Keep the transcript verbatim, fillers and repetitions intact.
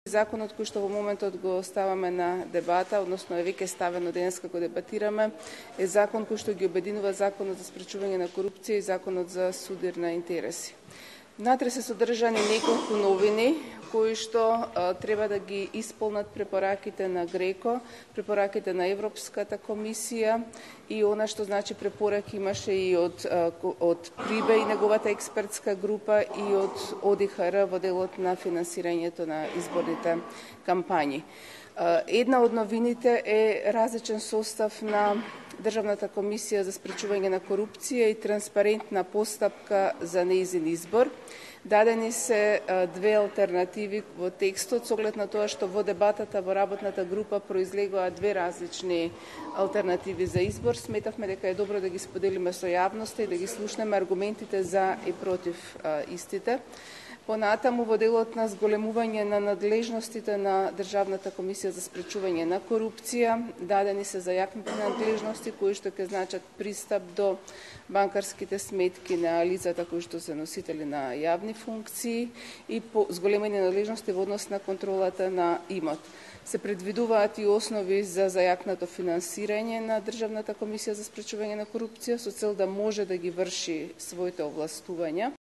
Законот кој што во моментот го ставаме на дебата, односно е веќе ставено денес како дебатираме, е закон кој што ги обединува Законот за спречување на корупција и Законот за судир на интереси. Внатре се содржани неколку новини кои што а, треба да ги исполнат препораките на ГРЕКО, препораките на Европската комисија и она што значи препораки имаше и од, а, од ПРИБЕ и неговата експертска група и од ОДИХР во делот на финансирањето на изборните кампањи. А, една од новините е различен состав на Државната комисија за спречување на корупција и транспарентна постапка за нејзин избор. Дадени се две алтернативи во текстот, со оглед на тоа што во дебатата во работната група произлегоа две различни алтернативи за избор. Сметавме дека е добро да ги споделиме со јавноста и да ги слушнеме аргументите за и против а, истите. Понатаму во делот на зголемување на надлежностите на Државната комисија за спречување на корупција, дадени се зајакнати надлежности кои што ќе значат пристап до банкарските сметки на лицата кои што се носители на јавни функции и по зголемени надлежности во однос на контролата на имот. Се предвидуваат и основи за зајакнато финансирање на Државната комисија за спречување на корупција со цел да може да ги врши своите овластувања.